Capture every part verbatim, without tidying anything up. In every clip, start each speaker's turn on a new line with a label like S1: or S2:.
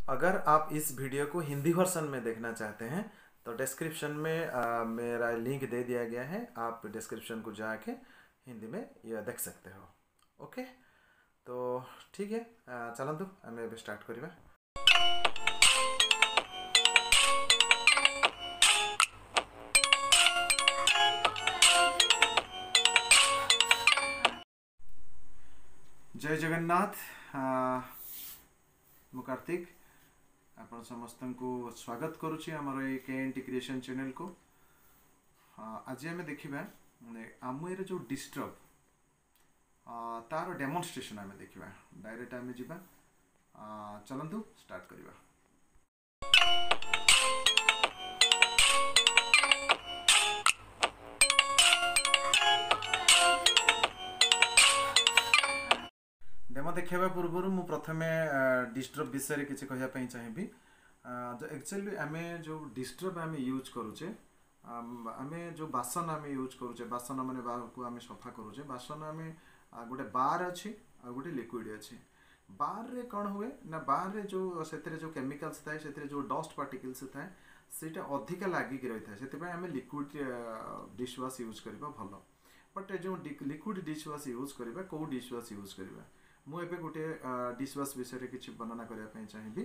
S1: अगर आप इस वीडियो को हिंदी वर्जन में देखना चाहते हैं तो डिस्क्रिप्शन में आ, मेरा लिंक दे दिया गया है, आप डिस्क्रिप्शन को जाके हिंदी में यह देख सकते हो। ओके, तो ठीक है, चलतु आम एबे स्टार्ट करवा। जय जगन्नाथ, मु कार्तिक आपण समस्त को स्वागत करुछि हमर ए के एन टी क्रिएशन चैनल को। आज आम देखा आमवेर जो डिस्ट्रब तार डेमोन्स्ट्रेशन आम देखा, डायरेक्ट आम जीवा, चलतु स्टार्ट करवा। डेमो देखा पूर्व मु प्रथमे डिस्ट्रब विषय किसी कह चाहिए। एक्चुअली आम जो डिस्ट्रब आम यूज करुचे, आम जो बासन आम यूज करुचे, बासन माने को आम सफा करुचे, बासन आम गोटे बार अच्छी आ गोटे लिक्विड अच्छी। बार रे कौन हुए ना, बार रे जो से जो केमिकल्स थाए, से जो डस्ट पार्टिकल्स थाए सेटा अधिका लागिक रही था, से आम लिक्विड डिशवाश यूज करवा भल। बट जो लिक्विड डिशवाश यूज करवा, कौ डिशवाश यूज करवा, मुझे गोटे डिशवाश विषय किसी वर्णना करने चाहिए।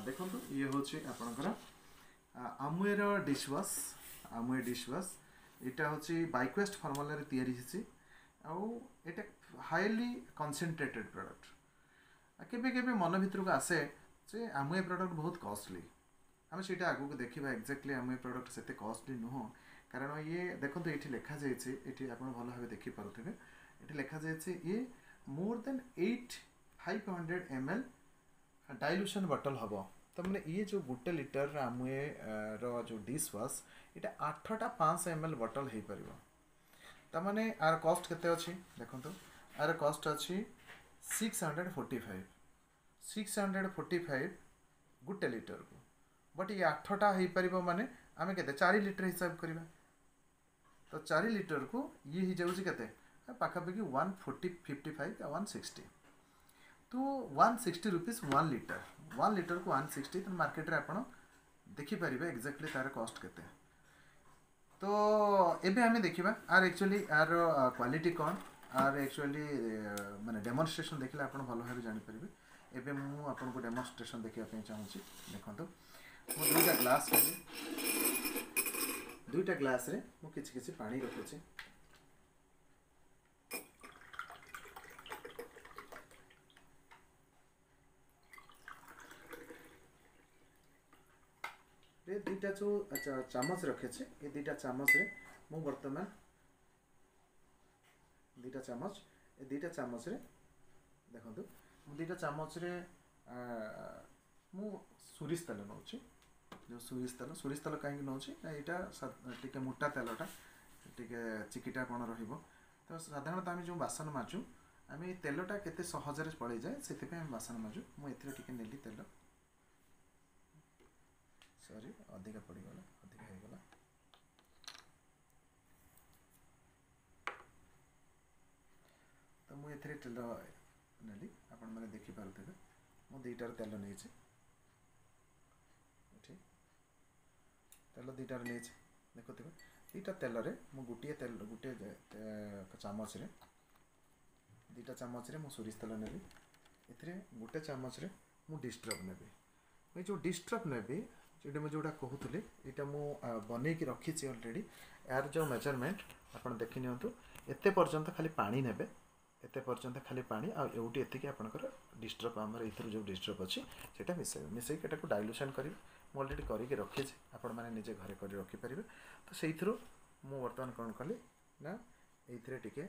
S1: देखो ये हूँ आपणकर आमवेर डिशवाश, आमवे डिशवाश यहाँ हूँ बाइक्वेस्ट फर्मुला या आटा हाईली कनसेंट्रेटेड प्रडक्ट। केवे केवे मन भितर को आसे जे आमवे प्रडक्ट बहुत कस्टली, आम से आगे देखा एक्जाक्टली आमवे प्रडक्ट से कस्टली नुह, कारण ये देखो ये लिखा जाए, आप भल भाव देखिपे, ये लिखा जाए ये more than eight five hundred M L dilution bottle हम। तो मैंने ये जो गोटे लिटर आमवे जो डिशवाश यहाँ आठटा पाँच एम एल बटल हो पार। ताने are कस्ट के अच्छी देखो, are कस्ट अच्छी six hundred forty five, six hundred forty five गोटे लिटर को। बट ये आठटा हो पार माने आम के चार लिटर हिसाब करवा, तो चार लिटर को ये हो जाऊँगी के पाखापाखि one forty fifty five one sixty, तो one sixty rupees one litre, one litre को वन सिक्सटी। तो मार्केट में आप देखिपर एक्जाक्टली तार कस्ट के। तो एबे आम देखा are actually are quality कौन, are actually माने डेमोन्स्ट्रेशन देखले आप भल भाव जापरेंगे। एबे मुझे आपको डेमोन्स्ट्रेशन देखापी चाहूँगी। देखो मुझे दुईटा ग्लास कली, दुईटा ग्लास रे मुझे किसी किसी पानी रखुची। दुईटा जो चामच रखी, ये दुईटा चामच रे मु बर्तमान दुईटा चामच, ये दुईटा चामच रे देखो मु दुईटा चामच रे मु सोरिष तेल नौची। जो सोरिष तेल, सोरिष तेल कहीं नौची ना, यहाँ टे मोटा तेलटा टे चिकिटापण रहिबो। तो साधारणतः आम जो बासन माजु आम तेलटा केते सहजरे पड़े जाए, से बासन माजु। मुझे टे नेली तेल, सॉरी अधिका पड़गला, अधिका होगला। तो मुझे तेल नेली, आपण मैंने देखिपे मुझे दुईटार तेल नहीं तेल दुईटार नहीं देखुवे। दुईटा तेल मुझे गोटे तेल गोटे चामच दुईटा चामच मुझे सोरिष तेल नेली, एथिरे गोटे चामच मुझे डिस्ट्रब नेबी। मुझे जो डिस्ट्रब नेबी जो मुझे जोटा कहूली, यहाँ मुझे बनईକି रखी अलरेडी। यार जो मेजरमेंट आप देखी नियंतु, एते पर्यंत खाली पानी नेबे, एते पर्यंत खाली पानी आ एउटी एतिकी आपणकर डिस्ट्रब आमर एथर जो डिस्ट्रब अच्छी सेटा मिसाइबे, मिसाइକି एटाକୁ डाइल्यूशन करिवे। मुझे अलरेडी करिକି रखिଛି, आपण माने निजे घरे करि रखि परिबे। तो सेइथरु मु वर्तमान कोन कली ना एइथरे टिके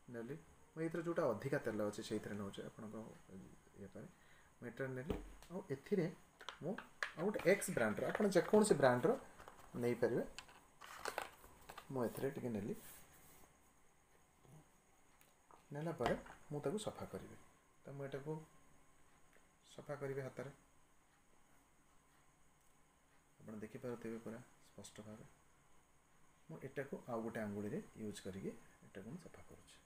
S1: नेली, मु एइथरे जोटा अधिका तेल अछि सेइथरे नउछि आपणक ये पर मु एटर नेली। आ एथिरे मु आ गोटे एक्स ब्रांडर, आपण जेकोनसी ब्रांडर नेई परिबे। मु एथिरे टिके नेली, नेला पर मु ताकू सफा करिवे। तो मु एटाकू सफा करिवे हाथ रे, आपण देखि पारुथिबे पूरा स्पष्ट भावे। मु एटाकू आउ गोटे आंगुली रे यूज करिके एटाकू मु सफा करूছি।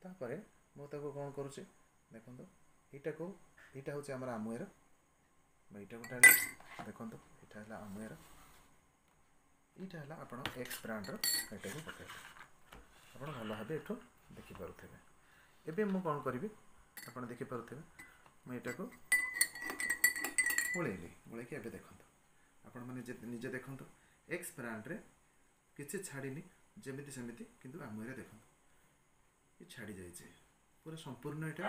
S1: तापर मु ताकू कोन करूছি ଦେଖନ୍ତୁ ଏଇଟାକୁ ଏଇଟା ହେଉଛି ଆମର ଆମୱେର ମୁଁ ଏଇଟାକୁ ଢାଳିଲି ଦେଖନ୍ତୁ ଏଇଟା ହେଲା ଆମୱେର ଏଇଟା ହେଲା ଆପଣ ଏକ୍ସ ବ୍ରାଣ୍ଡର ଏଇଟାକୁ ପକାଇଲେ ଆପଣ ଭଲ ଭାବେ ଏଠୁ ଦେଖିପାରୁଥିବେ ଏବେ ମୁଁ କ'ଣ କରିବି ଆପଣ ଦେଖିପାରୁଥିବେ ମୁଁ ଏଇଟାକୁ ଗୋଳେଇଲି ଗୋଳେଇକି ଏବେ ଦେଖନ୍ତୁ ଆପଣମାନେ ନିଜେ ଦେଖନ୍ତୁ ଏକ୍ସ ବ୍ରାଣ୍ଡରେ କିଛି ଛାଡ଼ିନି ଯେମିତି ସେମିତି କିନ୍ତୁ ଆମୱେରେ ଦେଖନ୍ତୁ ଏ ଛାଡ଼ି ଯାଇଛି ପୁରା ସମ୍ପୂର୍ଣ୍ଣ ଏଇଟା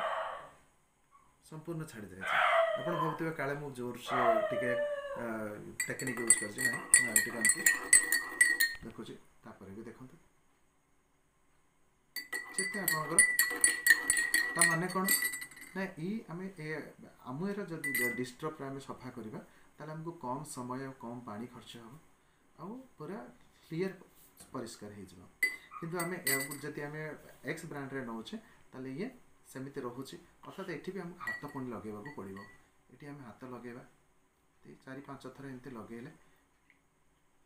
S1: ସମ୍ପୂର୍ଣ୍ଣ ଛାଡ଼ି ଯାଇଛି ଆପଣ ଭାବୁଥିବେ କାଳେ ମୁଁ ଜୋରସେ ଟିକେ ଟେକ୍ନିକ୍ ୟୁଜ୍ କରିଛି ନାହିଁ ମୁଁ ଆଉ ଟିକେ ଏମିତି ଦେଖୁଛି ତାପରେ ବି ଦେଖନ୍ତୁ ଯେତେ ଆପଣଙ୍କର ତା ମାନେ କ'ଣ ନା ଏଇ ଆମେ ଏ ଆମୱେର ଯଦି ଡିସ୍ଡ୍ରପ୍ରେ ଆମେ ସଫା କରିବା ତାହେଲେ ଆମକୁ କମ୍ ସମୟ ଆଉ କମ୍ ପାଣି ଖର୍ଚ୍ଚ ହେବ ଆଉ ପୁରା କ୍ଲିଅର୍ ପରିଷ୍କାର ହେଇଯିବ କିନ୍ତୁ ଆମେ ଏହାକୁ ଯଦି ଆମେ ଏକ୍ସ ବ୍ରାଣ୍ଡରେ ନେଉଛେ ତାହେଲେ ଇଏ ସେମିତି ରହୁଛି ଅର୍ଥାତ୍ ଏଠି ବି ଆମକୁ ହାତ ପୁଣି ଲଗେଇବାକୁ ପଡ଼ିବ ଏଠି ଆମେ ହାତ ଲଗେଇବା ଚାରି ପାଞ୍ଚ ଥର ଏମିତି ଲଗେଇଲେ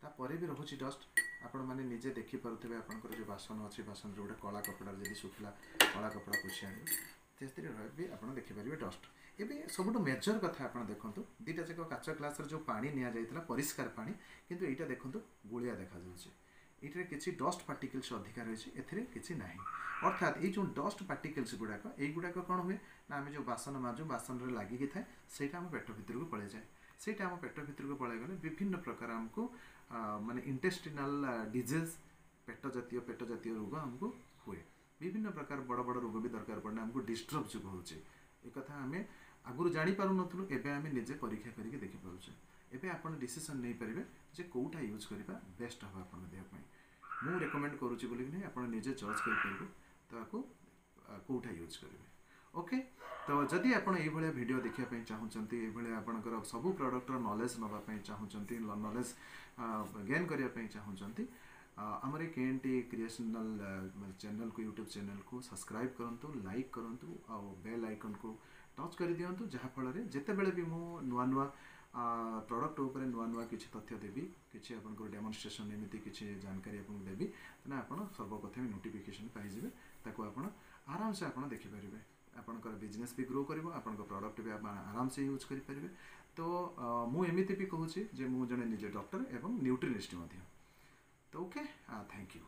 S1: ତାପରେ ବି ରହୁଛି ଡଷ୍ଟ ଆପଣମାନେ ନିଜେ ଦେଖିପାରୁଥିବେ ଆପଣଙ୍କର ଯେଉଁ ବାସନ ଅଛି ବାସନରେ ଗୋଟେ କଳା କପଡ଼ାରେ ଯଦି ଶୁଖିଲା କଳା କପଡ଼ା ପୋଛି ଆଣିବେ ସେଥିରେ ବି ଆପଣ ଦେଖିପାରିବେ ଡଷ୍ଟ ଏବେ ସବୁଠୁ ମେଜର କଥା ଆପଣ ଦେଖନ୍ତୁ ଦୁଇଟା ଯାକ କାଚ ଗ୍ଲାସରେ ଯେଉଁ ପାଣି ନିଆଯାଇଥିଲା ପରିଷ୍କାର ପାଣି କିନ୍ତୁ ଏଇଟା ଦେଖନ୍ତୁ ଗୋଳିଆ ଦେଖାଯାଉଛି ଏଇଟାରେ କିଛି ଡଷ୍ଟ ପାର୍ଟିକଲ୍ସ ଅଧିକା ରହିଛି ଏଥିରେ କିଛି ନାହିଁ ଅର୍ଥାତ୍ ଏଇ ଯେଉଁ ଡଷ୍ଟ ପାର୍ଟିକଲ୍ସ ଗୁଡ଼ାକ ଏଇଗୁଡ଼ାକ କ'ଣ ହୁଏ ନା ଆମେ ଯେଉଁ ବାସନ ମାଜୁ ବାସନରେ ଲାଗିକି ଥାଏ ସେଇଟା ଆମ ପେଟ ଭିତରକୁ ପଳେଇଯାଏ ସେଇଟା ଆମ ପେଟ ଭିତରକୁ ପଳେଇଗଲେ ବିଭିନ୍ନ ପ୍ରକାର ଆମକୁ ମାନେ ଇଣ୍ଟେଷ୍ଟିନାଲ ଡିଜିଜ୍ ପେଟ ଜାତୀୟ ପେଟ ଜାତୀୟ ରୋଗ ଆମକୁ ହୁଏ ବିଭିନ୍ନ ପ୍ରକାର ବଡ଼ ବଡ଼ ରୋଗ ବି ଦରକାର ପଡ଼େ ଆମକୁ ଡିସ୍ଡ୍ରପ୍ ଯୋଗୁଁ ହେଉଛି ଏକଥା ଆମେ ଆଗରୁ ଜାଣିପାରୁନଥିଲୁ ଏବେ ଆମେ ନିଜେ ପରୀକ୍ଷା କରିକି ଦେଖିପାରୁଛେ ଏବେ ଆପଣ ଡିସିସନ୍ ନେଇପାରିବେ ଯେ କେଉଁଟା ୟୁଜ୍ କରିବା ବେଷ୍ଟ ହେବ ଆପଣଙ୍କ ଦେହ ପାଇଁ ମୁଁ ରେକମେଣ୍ଡ କରୁଛି ବୋଲିକି ନୁହେଁ ଆପଣ ନିଜେ ଜଜ୍ କରିପାରିବେ ତାକୁ କେଉଁଟା ୟୁଜ୍ କରିବେ ଓକେ ତ ଯଦି ଆପଣ ଏଇଭଳିଆ ଭିଡ଼ିଓ ଦେଖିବା ପାଇଁ ଚାହୁଁଛନ୍ତି ଏଇଭଳିଆ ଆପଣଙ୍କର ସବୁ ପ୍ରଡ଼କ୍ଟର ନଲେଜ୍ ନେବା ପାଇଁ ଚାହୁଁଛନ୍ତି ନଲେଜ୍ ଗେନ୍ କରିବା ପାଇଁ ଚାହୁଁଛନ୍ତି ଆମର ଏ କେ ଏନ୍ ଟି କ୍ରିଏସନାଲ୍ ଚ୍ୟାନେଲ୍କୁ ୟୁଟ୍ୟୁବ୍ ଚ୍ୟାନେଲ୍କୁ ସବସ୍କ୍ରାଇବ୍ କରନ୍ତୁ ଲାଇକ୍ କରନ୍ତୁ ଆଉ ବେଲ୍ ଆଇକନ୍କୁ ଟଚ୍ କରିଦିଅନ୍ତୁ ଯାହାଫଳରେ ଯେତେବେଳେ ବି ମୁଁ ନୂଆ ନୂଆ ପ୍ରଡ଼କ୍ଟ ଉପରେ ନୂଆ ନୂଆ କିଛି ତଥ୍ୟ ଦେବି କିଛି ଆପଣଙ୍କର ଡେମନଷ୍ଟ୍ରେସନ୍ ଏମିତି କିଛି ଜାନକାରୀ ଆପଣଙ୍କୁ ଦେବି ତାହେଲେ ଆପଣ ସର୍ବପ୍ରଥମେ ନୋଟିଫିକେସନ୍ ପାଇଯିବେ ତାକୁ ଆପଣ ଆରାମସେ ଆପଣ ଦେଖିପାରିବେ ଆପଣଙ୍କର ବିଜନେସ୍ ବି ଗ୍ରୋ କରିବ ଆପଣଙ୍କ ପ୍ରଡ଼କ୍ଟ ବି ଆପଣ ଆରାମସେ ୟୁଜ୍ କରିପାରିବେ ତ ମୁଁ ଏମିତି ବି କହୁଛି ଯେ ମୁଁ ଜଣେ ନିଜେ ଡକ୍ଟର ଏବଂ ନ୍ୟୁଟ୍ରିନିଷ୍ଟ ମଧ୍ୟ ତ ଓକେ thank you.